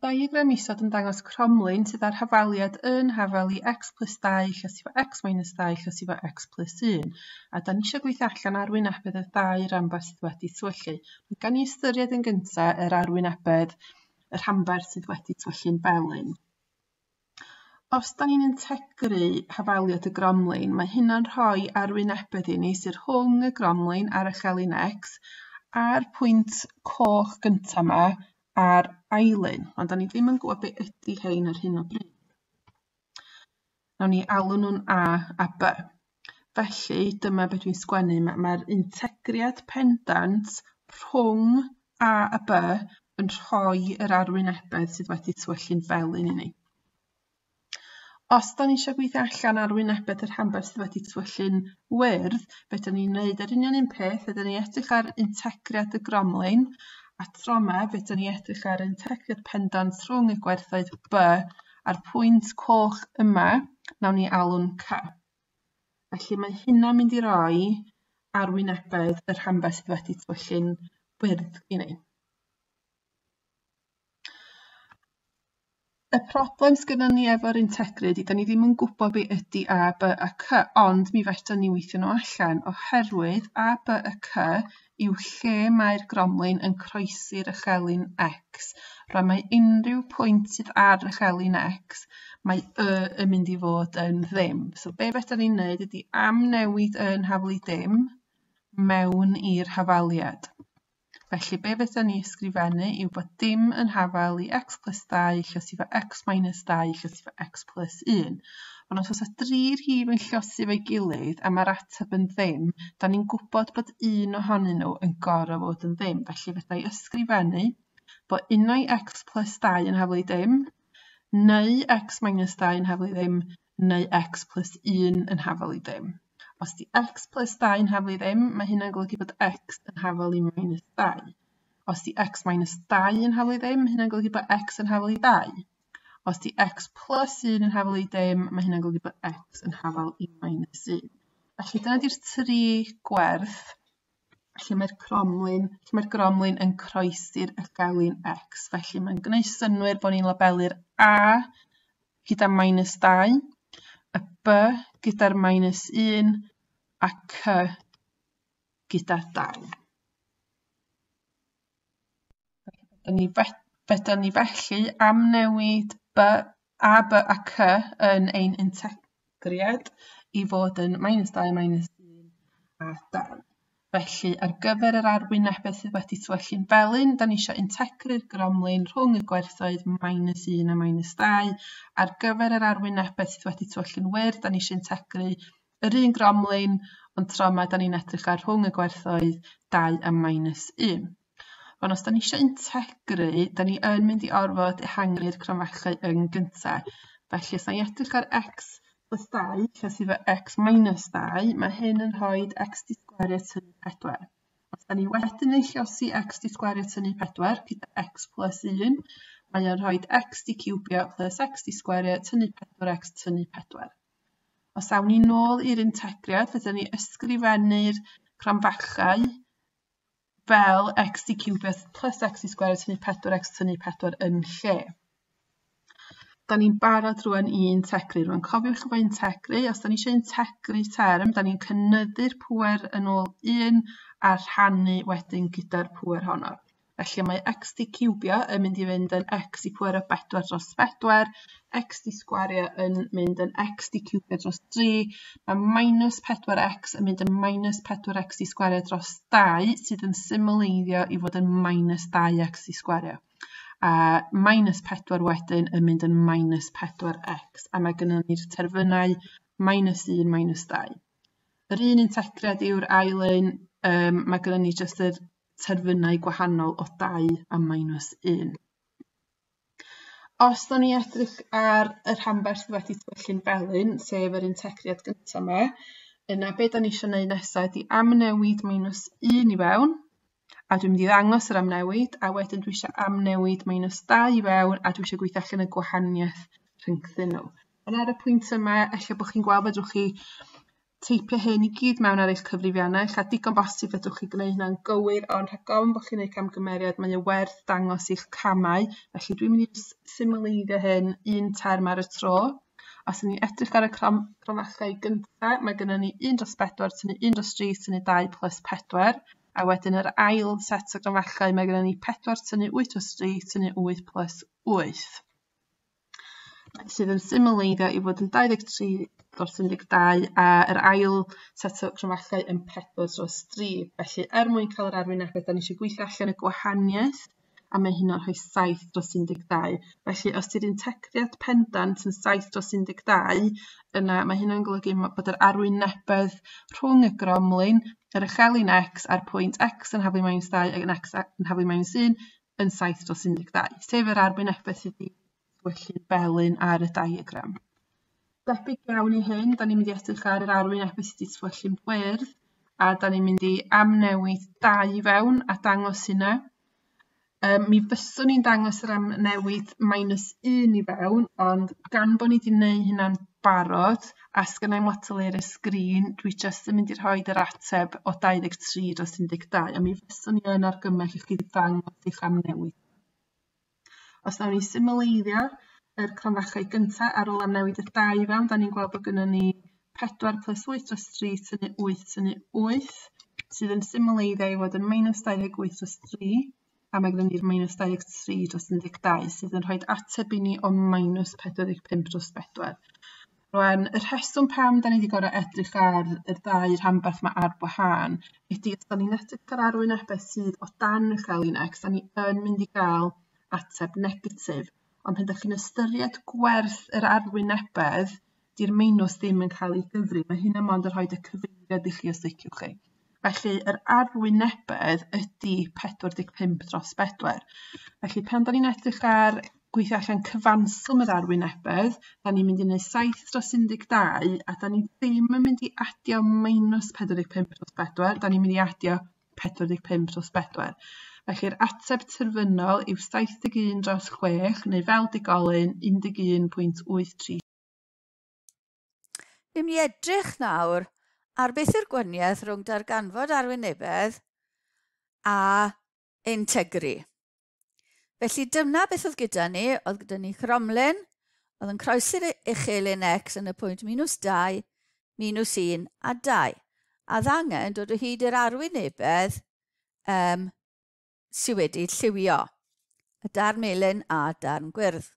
Diagram isod yn dangos cromlin sydd â'r hafaliad yn hafal i x plus 2 llos efo x minus 2 llos efo x plus 1. A da ni eisiau gweithio allan arwynebedd y ddau ranbarth sydd wedi twyllu. Gan ni ystyried yn gyntaf yr arwynebedd y rhanbarth sydd wedi twyllu'n felyn. Os da ni'n integru hafaliad y gromlin, mae hynna'n rhoi arwynebedd i ni sydd rhwng y gromlin a'r echelin x a'r pwynt coch gyntaf yma a'r ailun, ond da ni ddim yn gwybod be ydy hein ar hyn o bryd. Nawn ni alw nhw'n A a B. Felly, dyma beth dwi'n sgwennu. Mae'r integriad pendant rhwng A a B yn rhoi yr arwynebedd sydd wedi tywyllu'n felyn i ni. Os da ni eisiau gweithio allan arwynebedd yr rhanbarth sydd wedi tywyllu'n wyrdd, be da ni'n neud yr union un peth, fedra ni edrych ar integriad y gromlin, a tro 'ma fedra ni edrych ar integriad pendant rhwng y gwerthoedd B a'r pwynt coch yma, nawn ni alw'n C. Felly mae hynna'n mynd i roi arwynebedd y rhanbarth sydd wedi tywyllu'n wyrdd i ni. Y problem sgynnon ni efo'r integru ydy, da ni ddim yn gwybod be ydy A, B a C, ond mi fedran ni weithio nhw allan, oherwydd A, B a C yw lle mae'r gromlin yn croesi'r echelin X. Rwan mae unrhyw pwynt sydd ar echelin X, mae Y yn mynd i fod yn ddim. So be fedran ni'n neud ydy amnewid Y yn haflu dim mewn i'r hafaliad. Felly be fedra ni ysgrifennu yw bod dim yn hafal i x plus 2 llosi fo x minus 2 llosi fo x plus 1. Ond os oes 'na dri rhif yn llosi efo'i gilydd a mae'r ateb yn ddim, da ni'n gwybod bod un ohonyn nhw yn gorfod fod yn ddim. Felly fedra i ysgrifennu bod unai x plus 2 yn hafal i dim, neu x minus 2 yn hafal i ddim, neu x plus 1 yn hafal i ddim. Os di x plus 2 yn hafal i ddim, mae hynna'n golygu bod x yn hafal i minus 2. Os di x minus 2 yn hafal i ddim, mae hynna'n golygu bod x yn hafal i 2. Os di x plus 1 yn hafal i dim, mae hynna'n golygu bod x yn hafal i minus 1. Felly dyna di'r tri gwerth lle mae'r cromlin, lle mae'r gromlin yn croesi'r echelin x. Felly mae'n gwneud synnwyr bod ni'n labelu'r A gyda minus 2, y B gyda'r minus 1 a C gyda 2. Fedra ni felly amnewid B, A, B a C yn ein integriad i fod yn minus 2, minus 1 a 2. Felly, ar gyfer yr arwynebedd sydd wedi tywyllu'n felyn, da ni eisiau integru'r gromlin rhwng y gwerthoedd minus 1 a minus 2. Ar gyfer yr arwynebedd sydd wedi tywyllu'n wyrdd, da ni eisiau integru yr un gromlin, ond tro yma da ni'n edrych ar rhwng y gwerthoedd 2 a minus 1. Ond os da ni eisiau integru, da ni yn mynd i orfod ehangu'r cromfachau yn gyntaf. Felly, os da ni edrych ar x plus 2, lle sydd efo x minus 2, mae hyn yn rhoi x di sgwario tynnu 4. Os da ni wedyn yn lliosi x di sgwario tynnu 4 gyda x plus 1, mae o'n rhoi x di ciwbio plus x di sgwario tynnu 4x tynnu 4. Os awn ni nôl i'r integriad, fedrwn ni ysgrifennu'r cromfachau fel x di ciwbio plus x di sgwario tynnu 4x tynnu 4 yn lle. Da ni'n barod rwan i integru. Rwan cofiwch efo integru, os da ni eisiau integru term, da ni'n cynyddu'r pŵer yn ôl 1 a rhannu wedyn gyda'r pŵer honno. Felly mae x di ciwbio yn mynd i fynd yn x i pŵer o 4 dros 4, x di sgwario yn mynd yn x di ciwbio dros 3, mae minus 4x yn mynd yn minus 4x di sgwario dros 2, sydd yn symleiddio i fod yn minus 2x di sgwario. A minus 4 wedyn yn mynd yn minus 4x, a mae gennym ni'r terfynau minus 1, minus 2. Yr un integriad yw'r ail un, mae gennym ni jyst yr terfynau gwahanol o 2 a minus 1. Os da ni edrych ar y rhanbarth sydd wedi tywyllu'n felyn, sef yr integriad gyntaf yma, yna be da ni eisiau gwneud nesaf ydy amnewid minus 1 i fewn, a dwi'n mynd i ddangos yr amnewid, a wedyn dwi eisiau amnewid minus 2 i fewn, a dwi eisiau gweithio allan y gwahaniaeth rhyngthyn nhw. Ond ar y pwynt yma, ella bod chi'n gweld fedrwch chi teipio hyn i gyd mewn ar eich cyfrifiannell, a digon bosib fedrwch chi gwneud hynna'n gywir, ond rhag ofn bod chi'n gwneud camgymeriad, mae o werth dangos eich camau. Felly dwi'n mynd i symleiddio hyn un term ar y tro. Os ydyn ni'n edrych ar y cromfachau gyntaf, mae gennym ni 1 dros 4 tynnu 1 dros 3 tynnu 2 plus 4. A wedyn yr ail set o gromfachau, mae gennym ni 4 tynnu 8 dros 3 tynnu 8 plus 8. Sydd yn symleiddio i fod yn 23 dros 12 a yr ail set o cromfachau yn 4 dros 3. Felly er mwyn cael yr arwynebedd, da ni eisiau gweithio allan y gwahaniaeth, a mae hynna'n rhoi 7 dros 12. Felly os di'r integriad pendant yn 7 dros 12, yna mae hynna'n golygu bod yr arwynebedd rhwng y gromlin, yr uchelyn x a'r pwynt x yn haflu minus 2 ac yn x yn haflu minus 1 yn 7 dros 12, sef yr arwynebedd sydd wedi tywyllu'n felyn ar y diagram. Debyg iawn i hyn, da ni'n mynd i edrych ar yr arwynebedd sydd wedi tywyllu'n gwyrdd, a da ni'n mynd i amnewid 2 i fewn a dangos hynna. Mi fyswn i'n dangos yr amnewid minus 1 i fewn, ond gan bod ni wedi gwneud hynna'n barod, a sgynna i'm lot o le ar y sgrin, dwi jyst yn mynd i rhoi yr ateb o 23 dros 12, a mi fyswn i yn argymell i chi ddangos eich amnewid. Os nawn ni symleiddio yr cromfachau gyntaf ar ôl amnewid y 2 i fewn, da ni'n gweld bod gynnon ni 4 plus 8 dros 3 tynnu 8 tynnu 8, sydd yn symleiddio i fod yn minus 28 dros 3, a mae gynnon ni'r minus 23 dros 12, sydd yn rhoi ateb i ni o minus 45 dros 4. Rwan, y rheswm pam da ni wedi gorfod edrych ar y ddau rhanbarth yma ar wahân ydy os da ni'n edrych ar arwynebedd sydd o dan uchelyn x, da ni yn mynd i gael ateb negatif. Ond pan ydych chi'n ystyried gwerth yr arwynebedd, di'r minws ddim yn cael ei gyfri. Mae hynna mond yn rhoi y cyfeiriad i chi os liciwch chi. Felly yr arwynebedd ydy 45 dros 4. Felly pan da ni'n edrych ar gweithio allan cyfanswm yr arwynebedd, da ni'n mynd i wneud 7 dros 12, a da ni ddim yn mynd i adio minus 45 dros 4, da ni'n mynd i adio 45 dros 4. Felly'r ateb terfynol yw 71 dros 6, neu fel digolyn 11.83. Ni'n mynd i edrych nawr ar beth yw'r gwahaniaeth rhwng darganfod arwynebedd a integru. Felly dyna beth oedd gyda ni. Oedd gyda ni cromlin, oedd yn croesi'r uchelyn x yn y pwynt minus 2, minus 1 a 2. A oedd angen dod o hyd i'r arwynebedd sydd wedi lliwio, y darn melyn a darn gwyrdd.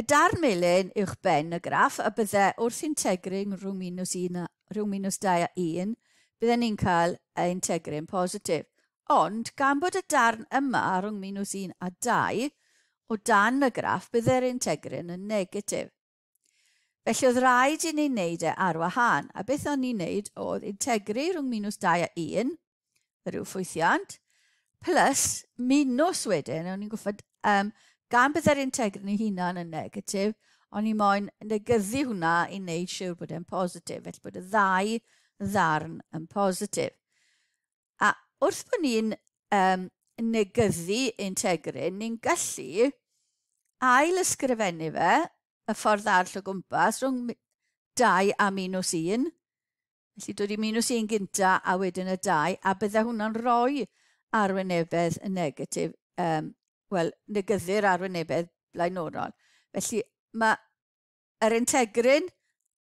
Y darn melyn uwch ben y graff, a bydde wrth integru rhwng minus 1 a, rhwng minus 2 a 1, bydden ni'n cael y integru'n positif. Ond gan bod y darn yma rhwng minus 1 a 2 o dan y graff, bydde'r integru'n yn negatif. Felly oedd rhaid i ni wneud e ar wahân, a beth o'n ni'n wneud oedd integru rhwng minus 2 a 1, yr yw ffwythiant, plus minus wedyn, o'n i'n gwybod, gan bydde'r integru'n ei hunan yn negatif, o'n i moyn negyddu hwnna i wneud siwr bod e'n positif, felly bod y ddau ddarn yn positif. A wrth bod ni'n negyddu integrin, ni'n gallu ail ysgrifennu fe y ffordd arall o gwmpas rhwng 2 a minus 1. Felly dod i minus 1 gynta a wedyn y 2, a bydde hwnna'n rhoi arwynebedd y negatif, wel, negyddu'r arwynebedd blaenorol. Felly mae yr integrin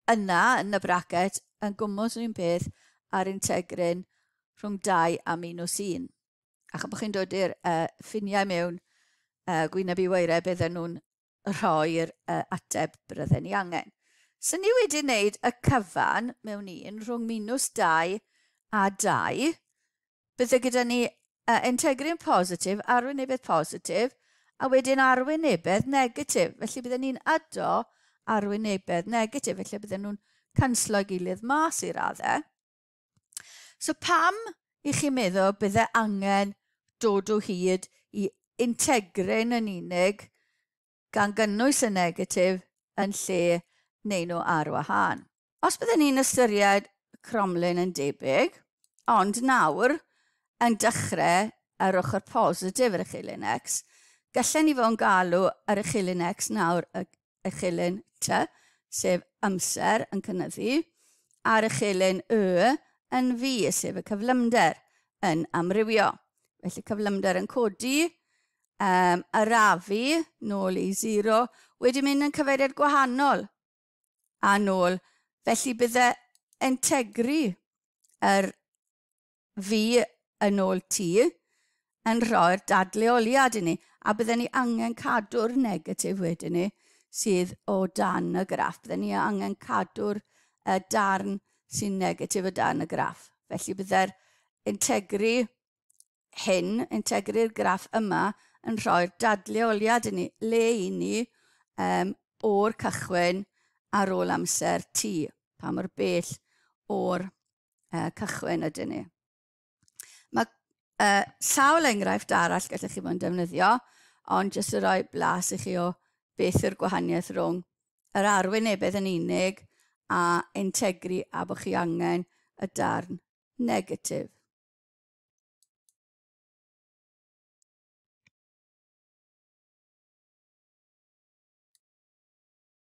yna yn y bracet yn gwmws yr un peth a'r integrin rhwng 2 a minus 1. A chan bod chi'n dod i'r ffiniau mewn gwyneb i waered, bydden nhw'n rhoi'r ateb bydden ni angen. So ni wedi wneud y cyfan mewn un rhwng minus 2 a 2. Bydde gyda ni integrin positif, arwynebedd positif, a wedyn arwynebedd negatif. Felly bydden ni'n ado arwynebedd negatif, felly bydden nhw'n canslo gilydd mas i raddau. So pam i chi meddwl bydde angen dod o hyd i integrin yn unig gan gynnwys y negatif yn lle neu nhw ar wahân? Os bydden ni'n ystyried cromlin yn debyg, ond nawr yn dechrau ar ochr positif yr uchelyn x, gallen ni fod yn galw yr uchelyn x nawr y uchelyn t, sef amser yn cynyddu, ar uchelyn Y yn V, sef y cyflymder, yn amrywio. Felly cyflymder yn codi, arafu nôl i 0, wedi mynd yn cyfeiriad gwahanol a nôl. Felly bydde integru yr V yn ôl T yn rhoi'r dadleoliad i ni, a bydden ni angen cadw'r negatif wedyn ni sydd o dan y graff. Bydden ni angen cadw'r darn sy'n negatif o dan y graff. Felly bydde'r integru hyn, integru'r graff yma, yn rhoi'r dadleoliad i ni, le i ni o'r cychwyn ar ôl amser T, pa mor bell o'r cychwyn ydyn ni. Mae sawl enghraifft arall gallech chi fod yn defnyddio, ond jyst i roi blas i chi o beth yw'r gwahaniaeth rhwng yr arwynebedd yn unig a integru a bod chi angen y darn negatif.